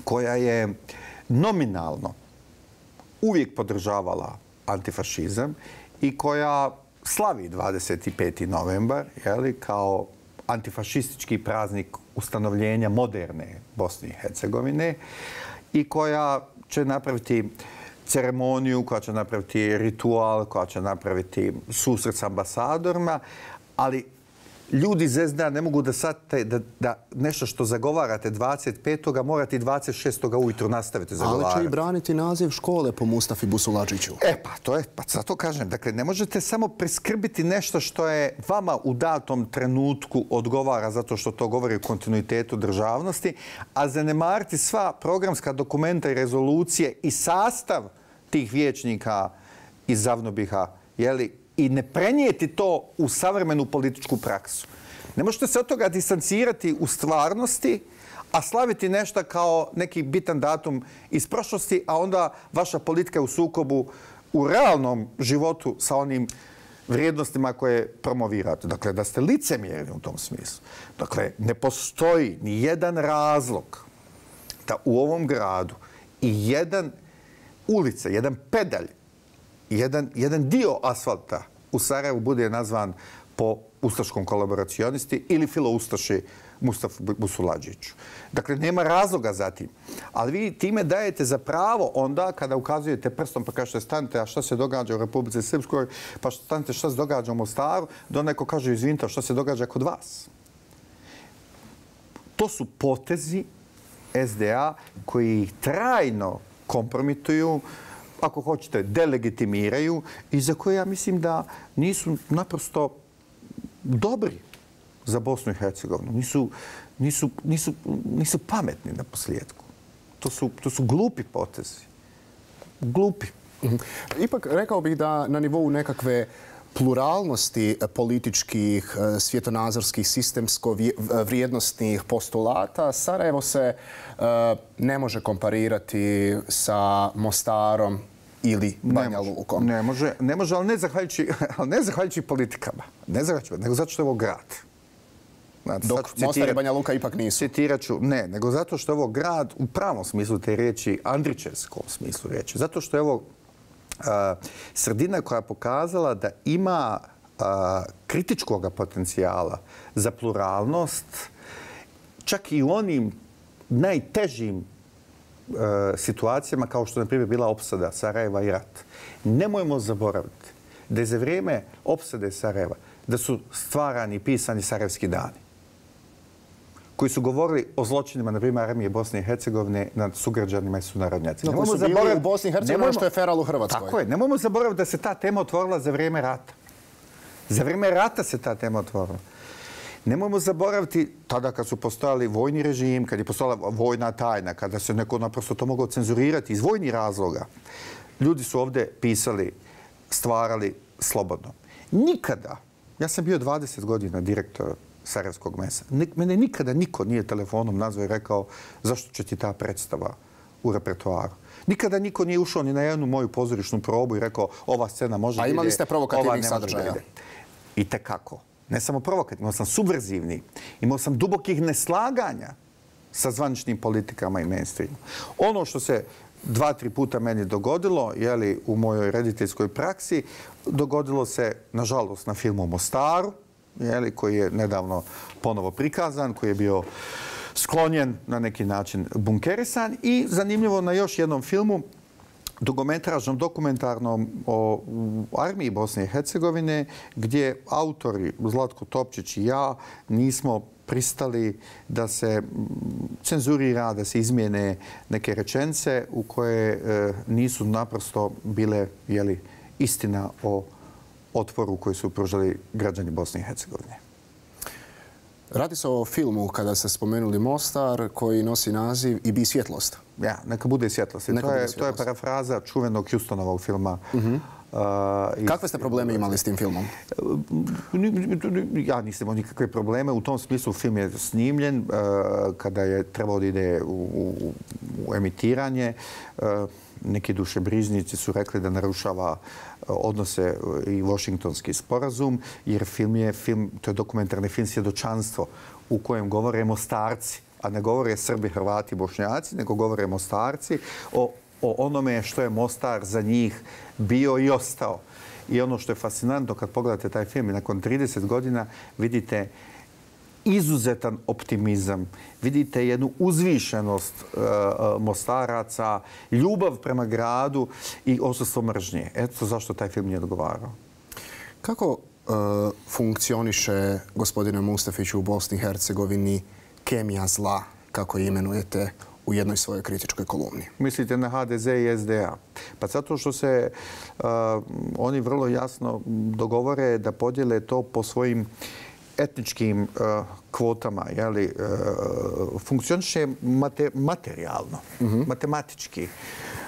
koja je nominalno uvijek podržavala antifašizam i koja slavi dvadeset peti novembar, jeli, kao antifašistički praznik ustanovljenja moderne Bosne i Hercegovine i koja će napraviti ceremoniju, koja će napraviti ritual, koja će napraviti susret s ambasadorima, ali ljudi iz es de a ne mogu da shvate da, da nešto što zagovarate dvadeset petog morate i dvadeset šestog ujutro nastaviti zagovarati. Ali će i braniti naziv škole po Mustafi Busuladžiću. E pa, to je, pa zato kažem, dakle, ne možete samo preskrbiti nešto što je vama u datom trenutku odgovara zato što to govori o kontinuitetu državnosti, a zanemariti sva programska dokumenta i rezolucije i sastav tih vijećnika iz Zavnobiha, jeli, i ne prenijeti to u savremenu političku praksu. Ne možete se od toga distancirati u stvarnosti, a slaviti nešto kao neki bitan datum iz prošlosti, a onda vaša politika je u sukobu u realnom životu sa onim vrijednostima koje promovirate. Dakle, da ste licemjerni u tom smislu. Dakle, ne postoji ni jedan razlog da u ovom gradu i jedan ulica, jedan pedalj, jedan, jedan dio asfalta u Sarajevu bude nazvan po ustaškom kolaboracionisti ili filoustaši Mustafa Busuladžiću. Dakle, nema razloga za tim. Ali vi time dajete za pravo onda kada ukazujete prstom pa kažete stanite, a šta se događa u Republici Srpskoj, pa stanite šta se događa u Mostaru, da neko kaže izvinite, šta se događa kod vas. To su potezi S D A koji ih trajno kompromituju, ako hoćete, delegitimiraju i za koje ja mislim da nisu naprosto dobri za Bosnu i Hercegovinu. Nisu, nisu, nisu, nisu pametni na posljedku. To su, to su glupi potezi. Glupi. Ipak rekao bih da na nivou nekakve pluralnosti političkih, svjetonazorskih, sistemsko-vrijednostnih postulata Sarajevo se ne može komparirati sa Mostarom ili Banja Lukom. Ne može, ne može, ali ne zahvaljujući, ali ne zahvaljujući politikama. Ne zahvaljujući, nego zato što je ovo grad. Znači, dok Mostar i Banja Luka ipak nisu. Citirat ću, ne, nego zato što je ovo grad u pravom smislu te riječi, andrićevskom smislu riječi. Zato što je ovo uh, sredina koja je pokazala da ima uh, kritičkog potencijala za pluralnost, čak i u onim najtežim uh, situacijama kao što je, na primjer, bila opsada Sarajeva i rat. Nemojmo zaboraviti da je za vrijeme opsade Sarajeva da su stvarani i pisani sarajevski dani koji su govorili o zločinima, na primjer, armije Bosne i Hercegovine nad sugrađanima i sunarodnjacima. No, koji su bili u Bosni i Hercegovini, što je feral u Hrvatskoj. Tako je. Nemojmo zaboraviti da se ta tema otvorila za vrijeme rata. Za vrijeme rata se ta tema otvorila. Nemojmo zaboraviti tada kad su postojali vojni režim, kad je postojala vojna tajna, kada se neko naprosto to moglo cenzurirati iz vojnih razloga. Ljudi su ovdje pisali, stvarali slobodno. Nikada, ja sam bio dvadeset godina direktor Sarajevskog mesa. Mene nikada niko nije telefonom nazvao i rekao zašto će ti ta predstava u repertoaru. Nikada niko nije ušao ni na jednu moju pozorišnu probu i rekao ova scena može da ide. A imali ste provokativnih sadržaja? I tekako. Ne samo provokativni, imao sam subverzivni. Imao sam dubokih neslaganja sa zvaničnim politikama i mainstreamom. Ono što se dva, tri puta meni dogodilo, jeli, u mojoj rediteljskoj praksi, dogodilo se, nažalost, na filmu Mostaru, jeli, koji je nedavno ponovo prikazan, koji je bio sklonjen na neki način bunkerisan i zanimljivo na još jednom filmu, dugometražnom, dokumentarnom o armiji Bosne i Hercegovine, gdje autori Zlatko Topčić i ja nismo pristali da se cenzurira, da se izmijene neke rečenice u koje e, nisu naprosto bile, jeli, istina o otporu koji su pružali građani Bosne i Hercegovine. Radi se o filmu, kada ste spomenuli Mostar, koji nosi naziv I bi svjetlost. Ja, neka bude svjetlost. Neka to, je, bude svjetlost. to je parafraza čuvenog Houstonovog filma. Uh-huh. Uh, iz... Kakve ste probleme imali s tim filmom? Ja nisam imao nikakve probleme. U tom smislu film je snimljen uh, kada je trebalo da ide u, u, u emitiranje. Uh, neki dušebrižnici su rekli da narušava odnose i Washingtonski sporazum, jer film je film, to je dokumentarni film Svjedočanstvo u kojem govore Mostarci, a ne govore Srbi, Hrvati, Bošnjaci, nego govore Mostarci o, o onome što je Mostar za njih bio i ostao. I ono što je fascinantno kad pogledate taj film i nakon trideset godina vidite izuzetan optimizam, vidite jednu uzvišenost uh, Mostaraca, ljubav prema gradu i odsustvo mržnje. Eto zašto taj film nije odgovarao. Kako uh, funkcioniše, gospodine Mustafiću, u Bosni i Hercegovini kemija zla, kako je imenujete u jednoj svojoj kritičkoj kolumni? Mislite na H D Z i S D A? Pa zato što se uh, oni vrlo jasno dogovore da podijele to po svojim etničkim uh, kvotama, jeli, uh, funkcioniše mate, materijalno, uh-huh. matematički.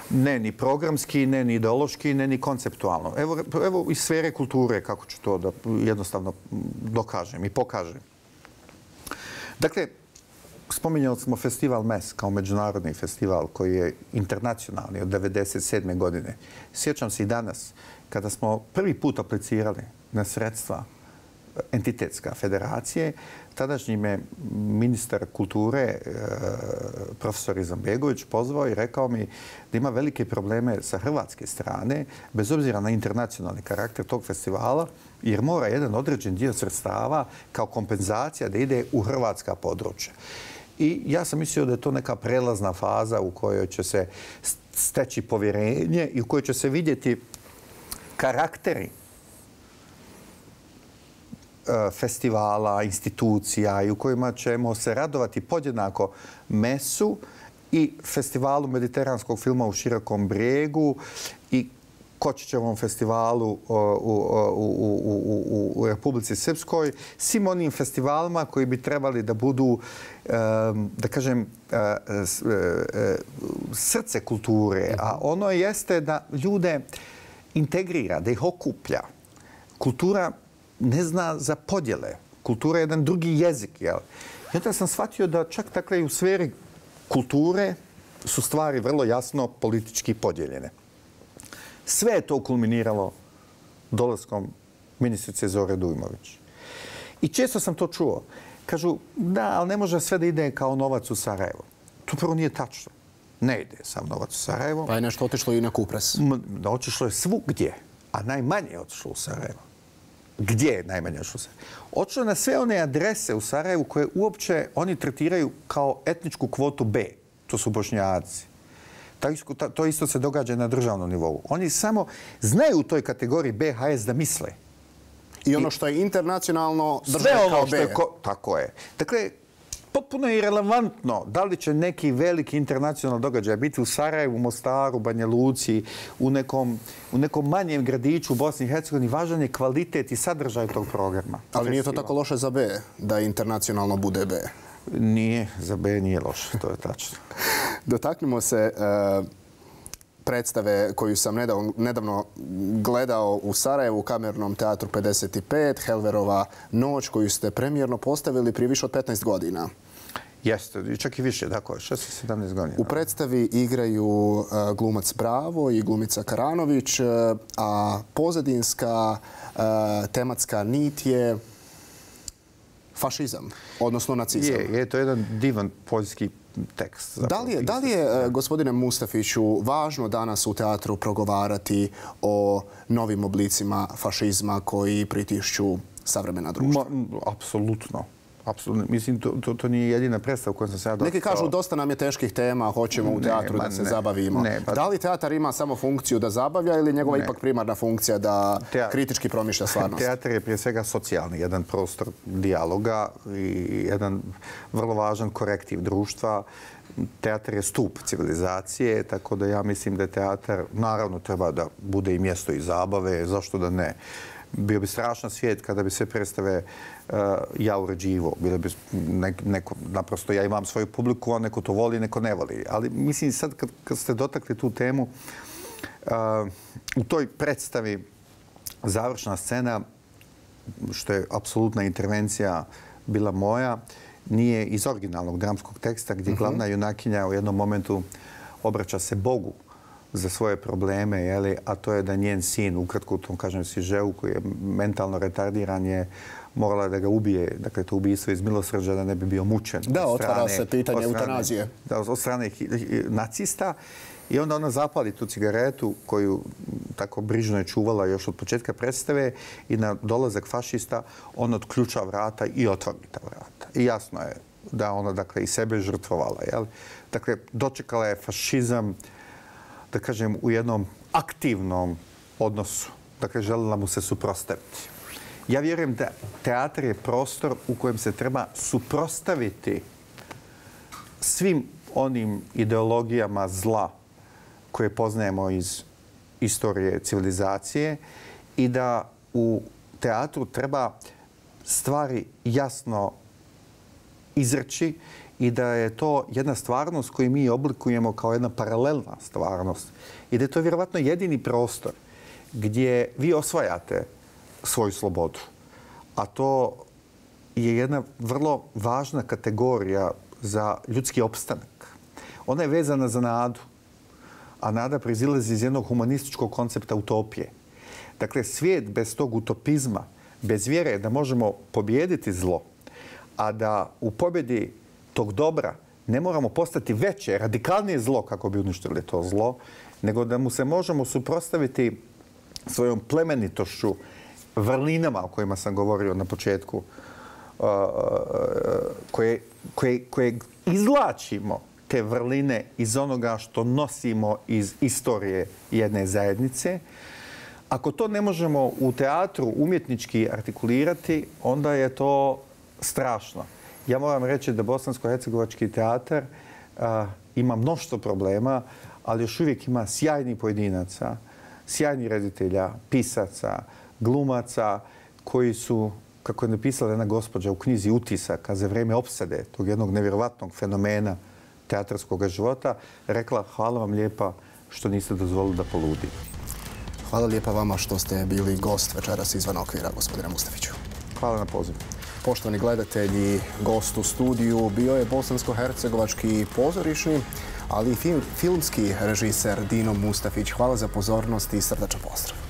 Ne ni programski, ne ni ideološki, ne ni konceptualno. Evo, evo iz sfere kulture, kako ću to da jednostavno dokažem i pokažem. Dakle, spominjali smo festival M E S kao međunarodni festival koji je internacionalni od devedeset sedme godine. Sjećam se i danas kada smo prvi put aplicirali na sredstva entitetska federacije. Tadašnji me ministar kulture, profesor Izetbegović, pozvao i rekao mi da ima velike probleme sa hrvatske strane, bez obzira na internacionalni karakter tog festivala, jer mora jedan određen dio sredstava kao kompenzacija da ide u hrvatska područja. I ja sam mislio da je to neka prelazna faza u kojoj će se steći povjerenje i u kojoj će se vidjeti karakteri festivala, institucija i u kojima ćemo se radovati podjednako Mesu i festivalu mediteranskog filma u Širokom Brijegu i Kočićevom festivalu u, u, u, u, u Republici Srpskoj, svim onim festivalima koji bi trebali da budu, da kažem, srce kulture, a ono jeste da ljude integrira, da ih okuplja. Kultura ne zna za podjele. Kultura je jedan drugi jezik. Jel? I onda sam shvatio da čak dakle, u sferi kulture su stvari vrlo jasno politički podijeljene. Sve je to kulminiralo dolaskom ministrice Zore Dujmović. I često sam to čuo. Kažu, da, ali ne može sve da ide kao novac u Sarajevo. To prvo nije tačno. Ne ide sam novac u Sarajevo. Pa je nešto otišlo i na Kupres. Otišlo je svugdje, a najmanje je otišlo u Sarajevo. Gdje je najmanje otišlo u Sarajevo? Otišlo na sve one adrese u Sarajevu koje uopće oni tretiraju kao etničku kvotu B. To su Bošnjaci. To isto se događa na državnom nivou. Oni samo znaju u toj kategoriji B H S da misle. I ono što je internacionalno država kao B. Tako je. Dakle, potpuno je irelevantno da li će neki veliki internacionalni događaj biti u Sarajevu, Mostaru, Banja Luci, u nekom, u nekom manjem gradiću u Bosni i Hercegovini. Važan je kvalitet i sadržaj tog programa. Ali nije to tako loše za B, da internacionalno bude B? Nije, za B nije loše, to je tačno. Dotaknimo se uh, predstave koju sam nedavno, nedavno gledao u Sarajevu u Kamernom teatru pedeset pet, Helverova noć, koju ste premijerno postavili prije više od petnaest godina. Jeste, čak i više, tako, šesnaest sedamnaest godina. U predstavi igraju uh, glumac Bravo i glumica Karanović, uh, a pozadinska uh, tematska nit je fašizam, odnosno nacizam. Je, je to jedan divan poljski tekst. Da li je, da li je, gospodine Mustafiću, važno danas u teatru progovarati o novim oblicima fašizma koji pritišću savremena društva? Ma, apsolutno. Apsolutno. Mislim, to, to, to nije jedina predstava u kojoj sam se ja dostao. Neki kažu dosta nam je teških tema, hoćemo u teatru ne, da se ne, zabavimo. Ne, pa... Da li teatar ima samo funkciju da zabavlja ili njegova ne. ipak primarna funkcija da Teat... kritički promišlja stvarnost? Teatar je prije svega socijalni, jedan prostor dijaloga i jedan vrlo važan korektiv društva. Teatar je stup civilizacije, tako da ja mislim da je teatar, naravno, treba da bude i mjesto i zabave, zašto da ne. Bio bi strašan svijet kada bi sve predstave uh, ja uređivo. Bilo bi neko, naprosto ja imam svoju publiku, a neko to voli, neko ne voli. Ali mislim sad kad, kad ste dotakli tu temu, uh, u toj predstavi završna scena, što je apsolutna intervencija bila moja, nije iz originalnog dramskog teksta gdje uh-huh. glavna junakinja u jednom momentu obraća se Bogu za svoje probleme, jeli, a to je da njen sin, ukratko u tom, kažem, Sižeu, koji je mentalno retardiran, je morala da ga ubije, dakle, to ubijstvo iz milosrđa, da ne bi bio mučen. Da, otvara se pitanje eutanazije. Da, od strane nacista. I onda ona zapali tu cigaretu koju tako brižno je čuvala još od početka predstave i na dolazak fašista on otključa vrata i otvori ta vrata. I jasno je da ona, dakle, i sebe žrtvovala. Jel? Dakle, dočekala je fašizam, da kažem, u jednom aktivnom odnosu. Dakle, željela mu se suprotstaviti. Ja vjerujem da teatar je prostor u kojem se treba suprotstaviti svim onim ideologijama zla koje poznajemo iz istorije civilizacije i da u teatru treba stvari jasno izreći i da je to jedna stvarnost koju mi oblikujemo kao jedna paralelna stvarnost. I da je to vjerovatno jedini prostor gdje vi osvajate svoju slobodu. A to je jedna vrlo važna kategorija za ljudski opstanak. Ona je vezana za nadu, a nada proizilazi iz jednog humanističkog koncepta utopije. Dakle, svijet bez tog utopizma bez vjere da možemo pobijediti zlo, a da u pobjedi tog dobra ne moramo postati veće, radikalnije zlo kako bi uništili to zlo, nego da mu se možemo suprotstaviti svojom plemenitošću, vrlinama o kojima sam govorio na početku, koje, koje, koje izvlačimo te vrline iz onoga što nosimo iz istorije jedne zajednice. Ako to ne možemo u teatru umjetnički artikulirati, onda je to strašno. Ja moram reći da Bosansko-hercegovački teatar a, ima mnoštvo problema, ali još uvijek ima sjajnih pojedinaca, sjajnih reditelja, pisaca, glumaca koji su, kako je napisala jedna gospođa u knjizi Utisaka za vrijeme opsade tog jednog nevjerovatnog fenomena teatarskog života, rekla hvala vam lijepa što niste dozvolili da poludi. Hvala lijepa vama što ste bili gost večeras izvan okvira, gospodine Mustafiću. Hvala na pozivu. Poštovani gledatelji, gost u studiju bio je bosansko-hercegovački pozorišni, ali i filmski režiser Dino Mustafić. Hvala za pozornost i srdačan pozdrav.